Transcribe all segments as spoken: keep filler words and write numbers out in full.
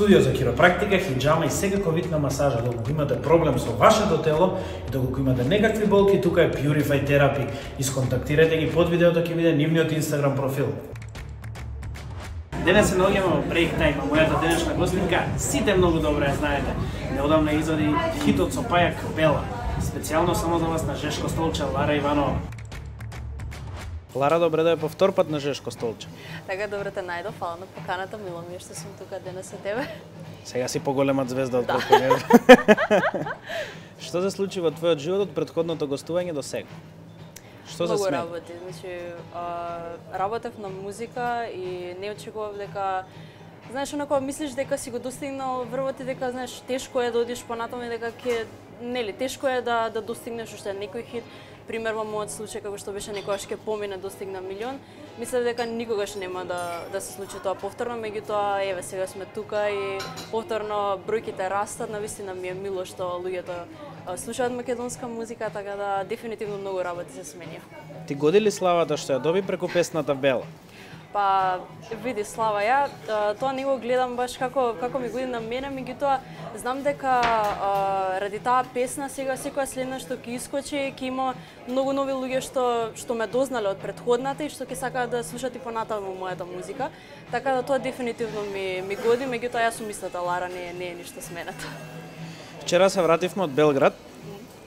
Студио за хиропрактика, хиџама и секако вид на масажа. Доколку имате проблем со вашето тело и доколку имате некакви болки, тука е Purify Therapy. Исконтактирајте ги под видеото, ќе биде нивниот Инстаграм профил. Денес се наоѓаме во Break Time, а мојата денешна гостинка сите многу добро ја знаете. Неодамна извади хитот со Паја Капела. Специјално само за вас на Жешко столче, Лара Иванова. Лара, добре да е повтор пат на Жешко столче. Така, добре те најдов, фала на поканата, мило ми е што сум тука денес со тебе. Сега си поголема звезда од колку не. Што се случи во твојот живот од претходното гостување до сега? Што се смени? Многу работи, значи работев на музика и не очекував дека знаеш, онако мислиш дека си го достигнал врвот и дека знаеш тешко е да одиш понатаму и дека ќе нели тешко е да да достигнеш уште некој хит. Пример во мојот случај како што беше некогаш ќе помине достигна милион, мислев дека никогаш нема да да се случи тоа повторно, меѓутоа еве сега сме тука и повторно бројките растат, навистина ми е мило што луѓето слушаат македонска музика, така да дефинитивно многу работи се сменија. Ти годи ли славата што ја доби преку песната Бела? Па види Слава, ја тоа не го гледам баш како како ми годи на мене, меѓутоа знам дека а, ради таа песна сега секоја следна што ќе искочи, ќе има многу нови луѓе што што ме дознале од претходната и што ќе сакаат да слушат и понатаму мојата музика. Така да тоа дефинитивно ми ми годи, меѓутоа јас сум истата Лара, не не е ништо сменато. Вчера се вративме од Белград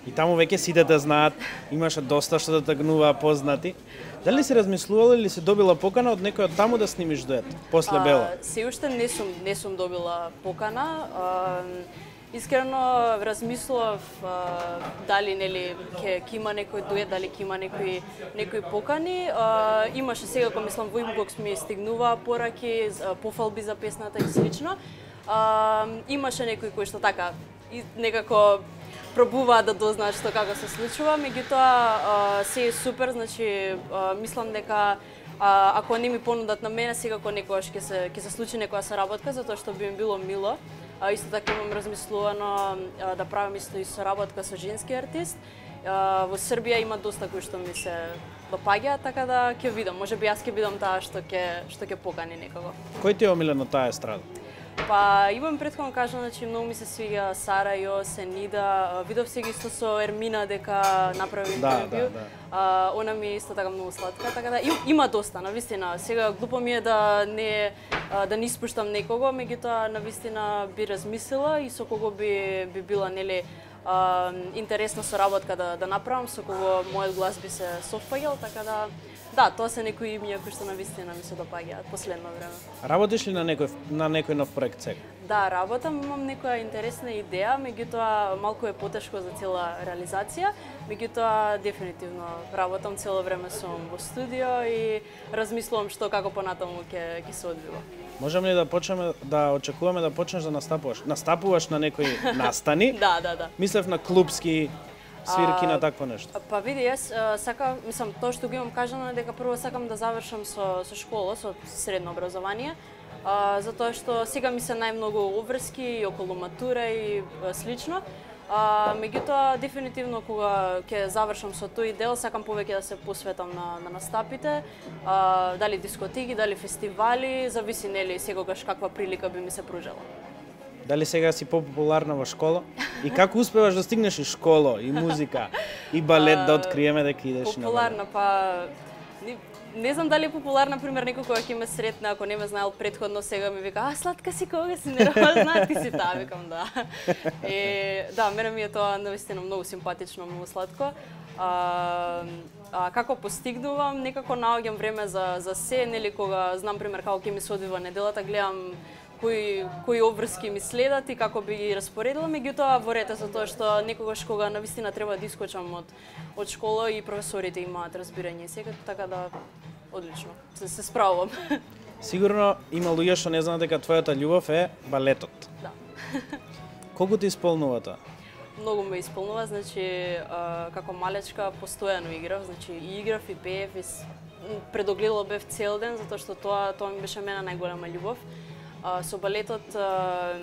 и таму веќе сите те знаат, имаше доста што да тагнуваа познати. Дали си размислувала или си добила покана од некој од таму да снимиш дует после Бела? А, се уште не сум не сум добила покана. А, искрено размислував а, дали нели ќе ќе има некој дует, дали ќе има некои некои покани. А, имаше сега кога мислам во инбокс ми стигнуваа пораки, пофалби за песната и слично. А, имаше некои кои што така и некако пробуваа да дознаат што како се случува, меѓутоа се е супер, значи а, мислам дека а, ако не ми понудат на мене, секако некогаш ќе се ќе се случи некоја соработка, затоа што би ми било мило. А, исто така имам размислувано а, да правам исто и соработка со женски артист. А, во Србија има доста кои што ми се допаѓаат, така да ќе видам, можеби јас ќе бидам таа што ќе што ќе покани некого. Кој ти е омилен на таа естрада? Па имам претходно кажано, значи многу ми се свиѓа Сара, Јос, Енида. Видов се ги исто со Ермина дека направи интервју. Да, да, да. А, она ми е исто така многу сладка, така да им, има доста, навистина. Сега глупо ми е да не да не испуштам некого, меѓутоа навистина би размислила и со кого би би била нели а, интересна соработка да да направам, со кого мојот глас би се совпаѓал, така да да, тоа се некои имиња кои што навистина ми се допаѓаат последно време. Работиш ли на некој на некој нов проект сега? Да, работам, имам некоја интересна идеја, меѓутоа малку е потешко за цела реализација, меѓутоа дефинитивно работам, цело време сум во студио и размислувам што како понатаму ќе ќе се одвива. Можеме ли да почнеме да очекуваме да почнеш да настапуваш? Настапуваш на некои настани? Да, да, да. Мислев на клубски свирки, на такво нешто. Па види, јас сакам, мислам, тоа што го имам кажано е дека прво сакам да завршам со со школа, со средно образование, а, затоа што сега ми се најмногу обврски и околу матура и а, слично. А, меѓутоа, дефинитивно кога ќе завршам со тој дел, сакам повеќе да се посветам на, на настапите, а, дали дискотеки, дали фестивали, зависи нели секогаш каква прилика би ми се пружела. Дали сега си популарна во школа? И како успеваш да стигнеш и школа, и музика, и балет, да откриеме дека идеш на балет? Популарна, па не, не знам дали е популарна, пример, некој кој ќе ме сретне, ако не ме знаел претходно, сега ми вика, а сладка си, кога си, не знаат, ти си таа, викам да. И, да, мене ми е тоа навистина многу симпатично, многу сладко. А, а како постигнувам, некако наоѓам време за за се, нели кога знам пример како ќе ми се одвива неделата, гледам кои кои обврски ми следат и како би ги распоредила, меѓутоа во ред за тоа што некогаш кога навистина треба да искочам од од школа и професорите имаат разбирање сега, така да одлично се, се справувам. Сигурно има луѓе што не знаат дека твојата љубов е балетот. Да. Колку ти исполнува тоа? Многу ме исполнува, значи а, како малечка постојано играв, значи и играв и пеев и предогледала бев цел ден затоа што тоа тоа ми беше мене најголема љубов. А, со балетот а,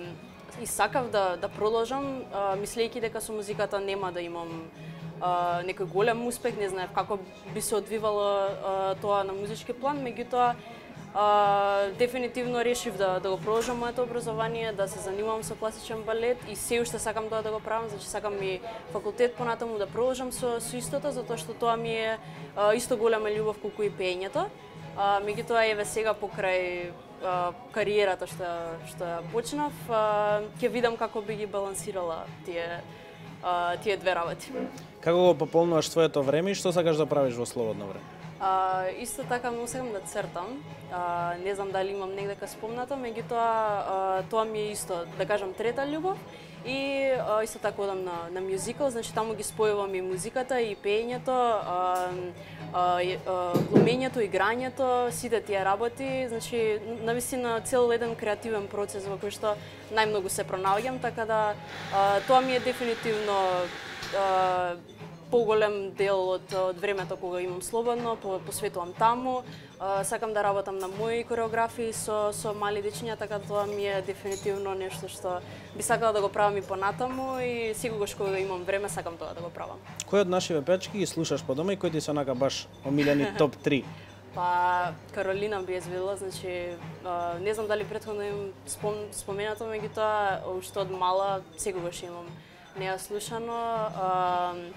и сакав да да продолжам, а, мислејќи дека со музиката нема да имам а, некој голем успех, не знаев како би се одвивало а, тоа на музички план, меѓутоа Uh, дефинитивно решив да, да го продолжам моето образование, да се занимавам со класичен балет и се уште сакам тоа да го правам, значи сакам и факултет понатаму да продолжам со, со истото, затоа што тоа ми е uh, исто голема љубов колку и пеењето. Uh, меѓутоа еве сега покрај uh, кариерата што што ја почнав, uh, ќе видам како би ги балансирала тие uh, тие две работи. Како го пополнуваш своето време и што сакаш да правиш во слободно време? Uh, исто така многу сакам да цртам. Uh, не знам дали имам негдека спомнато, меѓутоа uh, тоа ми е исто, да кажам, трета љубов. И uh, исто така одам на на мюзикал, значи таму ги спојувам и музиката и пеењето, uh, uh, uh, глумењето, играњето, сите тие работи, значи навистина цел еден креативен процес во кој што најмногу се пронаоѓам, така да uh, тоа ми е дефинитивно uh, поголем дел од, од времето кога имам слободно, по, посветувам таму. Uh, сакам да работам на мои кореографии со, со мали дечиња, така тоа ми е дефинитивно нешто што би сакала да го правам и понатаму и секогаш кога имам време сакам тоа да го правам. Кој од нашиве пеачки ги слушаш по дома и кој ти се онака баш омилени топ три? Па Каролина би извела, значи uh, не знам дали претходно им спом, споменато, меѓутоа уште од мала секогаш имам неа слушано. Uh,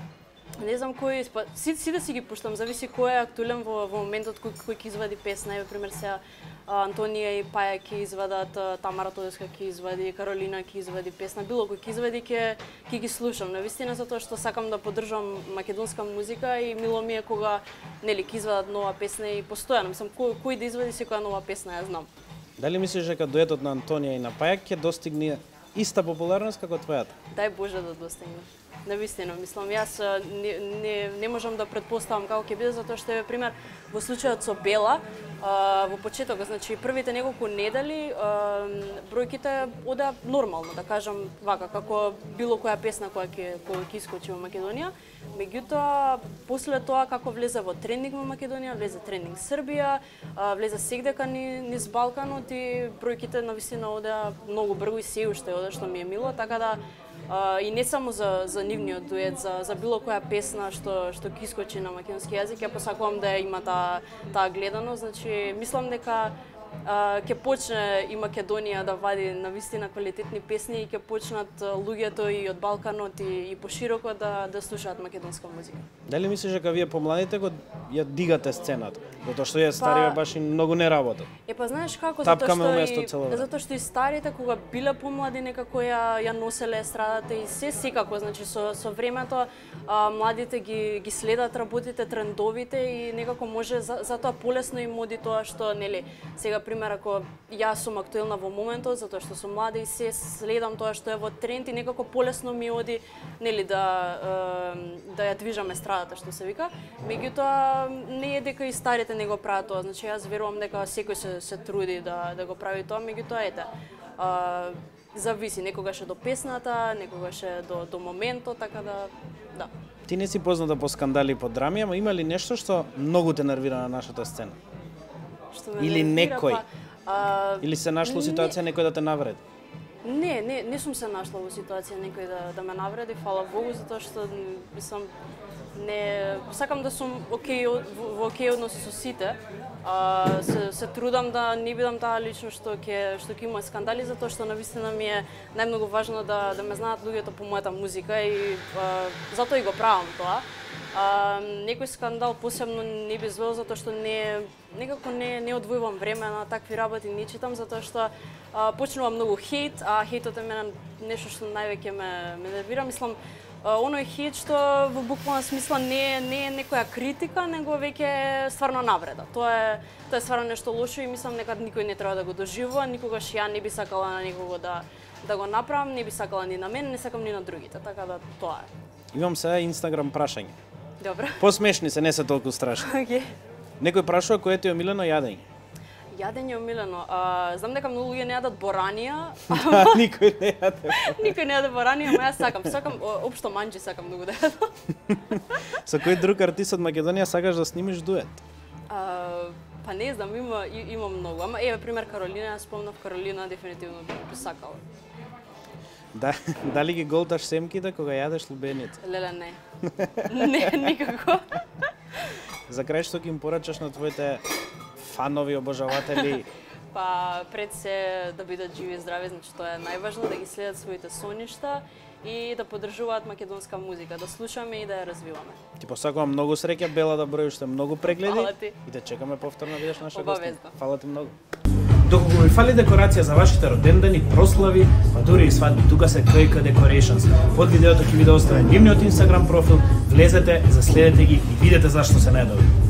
Не знам кој, па, сите си да си ги пуштам, зависи кој е актуелен во, во моментот кој, кој ќе извади песна. Еве пример сега Антонија и Паја ќе извадат, Тамара Тодеска ќе извади, Каролина ќе извади песна, било кој ќе извади ќе ќе ги слушам. Навистина затоа што сакам да поддржам македонска музика и мило ми е кога нели ќе извадат нова песна и постојано, мислам кој кој да извади секоја нова песна, ја знам. Дали мислиш дека дуетот на Антонија и на Паја ќе достигне иста популарност како твојата? Дај Боже да достигне. Навистина, мислам, јас не, не, не можам да претпоставам како ќе биде, затоа што е пример во случајот со Бела, а, во почетокот, значи првите неколку недели а, бројките одеа нормално, да кажам вака, како било која песна која ќе која ќе искочи во Македонија. Меѓутоа, после тоа како влезе во трендинг во Македонија, влезе трендинг Србија, а, влезе сегдека ни, низ Балканот и бројките навистина одеа многу брзо и се уште одеа, што ми е мило, така да Uh, и не само за, за нивниот дует, за, за било која песна што, што ќе искочи на македонски јазик, ја посакувам да има таа та гледаност, значи мислам дека uh, ќе почне и Македонија да вади навистина квалитетни песни и ќе почнат луѓето и од Балканот и, и пошироко да, да слушаат македонска музика. Дали мислиш дека вие помладите го ја дигате сцената? Затоа што ја стариве па, баш и многу не работат. Е па знаеш како, затоа што и затоа што и старите кога биле помлади некако ја ја носеле естрадата и се секако, значи со со времето а, младите ги ги следат работите, трендовите и некако може за, затоа полесно им оди тоа што нели сега пример ако јас сум актуелна во моментот затоа што сум млада и се следам тоа што е во тренд и некако полесно ми оди нели да да ја движам естрадата што се вика. Меѓутоа не е дека и старите не го прават тоа, значи јас верувам дека секој се се труди да да го прави тоа, меѓутоа ете. А, зависи, некогаш е до песната, некогаш е до до моментот, така да да. Ти не си позната по скандали и по драми, ама има ли нешто што многу те нервира на нашата сцена? Што ме Или нервира, некој? Па, а, Или се нашло ситуација не... некој да те навреди? Не, не, не сум се нашла во ситуација некој да да ме навреди, фала Богу, затоа што мислам не сакам да сум окей во окей односи со сите. А, се, се трудам да не бидам таа личност што ќе што ќе има скандали, затоа што навистина ми е најмногу важно да да ме знаат луѓето по мојата музика и а, затоа и го правам тоа. А, некој скандал посебно не би звел затоа што не некако не не одвојувам време на такви работи, не читам затоа што а, почнува многу хейт, а хейтот е мене нешто што највеќе ме ме нервира, мислам. Оној хейт што во буквална смисла не не е некоја критика, него веќе е стварно навреда. Тоа е тоа е стварно нешто лошо и мислам дека никој не треба да го доживува, никогаш ја не би сакала на никого да да го направам, не би сакала ни на мене, не сакам ни на другите, така да тоа е. Имам сега Инстаграм прашање. Добро. Посмешни се, не се толку страшни. Океј. Некој прашува кој ти е омилено јадење. Јадење омилено. А, знам дека многу луѓе не јадат боранија. Никој не јаде. Никој не јаде боранија, ама јас сакам. Сакам општо манџи сакам многу да јадам. Со кој друг артист од Македонија сакаш да снимиш дует? А, па не знам, има има многу. Ама еве пример Каролина, јас спомнав Каролина, дефинитивно би сакала. Да, дали ги голташ семките кога јадеш лубеница? Леле не. Не, никако. За крај што ќе им порачаш на твоите фанови, обожаватели? Па пред се да бидат живи и здрави, значи тоа е најважно, да ги следат своите соништа и да поддржуваат македонска музика, да слушаме и да ја развиваме. Ти посакувам многу среќа, Бела, да броиш уште многу прегледи. Фала ти. И да чекаме повторно да бидеш наша Обавезно. гостинка. Фала ти многу. Доколку ви фали декорација за вашите родендани, прослави, па дури и свадби, тука се К К Decorations. Под видеото ќе ви да оставам нивниот Инстаграм профил, влезете, заследете ги и видете зашто се најдоби.